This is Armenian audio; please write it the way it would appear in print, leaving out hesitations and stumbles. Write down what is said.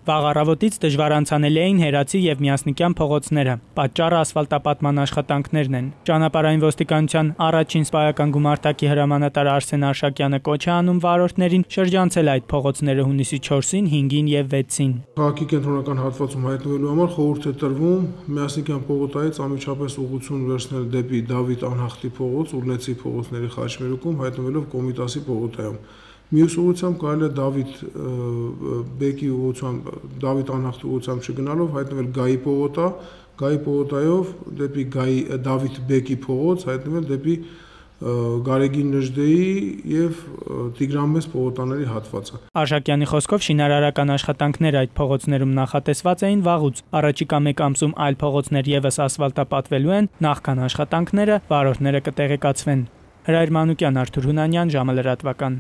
Վաղ առավոտից դժվար անցանելի էին Հերացի եւ Միասնիկյան փողոցները։ Պատճառը ասֆալտապատման աշխատանքներն են։ Ճանապարհային ոստիկանության առաջին սպայական գումարտակի հրամանատար Արսեն Արշակյանը կոչ է անում վարորդներին շրջանցել այդ փողոցները հունիսի 4-ին, 5-ին եւ 6-ին։ Քաղաքի կենտրոնական հատվածում հայտնվելու համար խորհուրդ է տրվում Միասնիկյան փողոցից անմիջապես ուղղություն վերցնել դեպի Դավիթ Անհախտի փողոց, Ուռնեցի փողոցների խաչմերուկում հայտնվելով Կոմիտասի փողոցայում։ Մյուս ուղղությամբ կարելի է Դավիթ Բեկի ուղղությամբ, Դավիթ Անհախտի ուղղությամբ չգնալով հայտնվել Գայի փողոցա, Գայի փողոցայով դեպի Դավիթ Բեկի փողոց հայտնվել դեպի Գարեգին Նժդեի եւ Տիգրան Մեծ փողոցների հատվածը։ Արշակյանի խոսքով շինարարական աշխատանքները այդ փողոցներում նախատեսված էին վաղուց։ Առաջիկա մեկ ամսում այլ փողոցներ եւս ասֆալտապատվելու են, նախքան աշխատանքները վարորդները կտեղեկացվեն։ Հրայր Մանուկյան, Արթուր Հունանյան, ժամը լրատվական։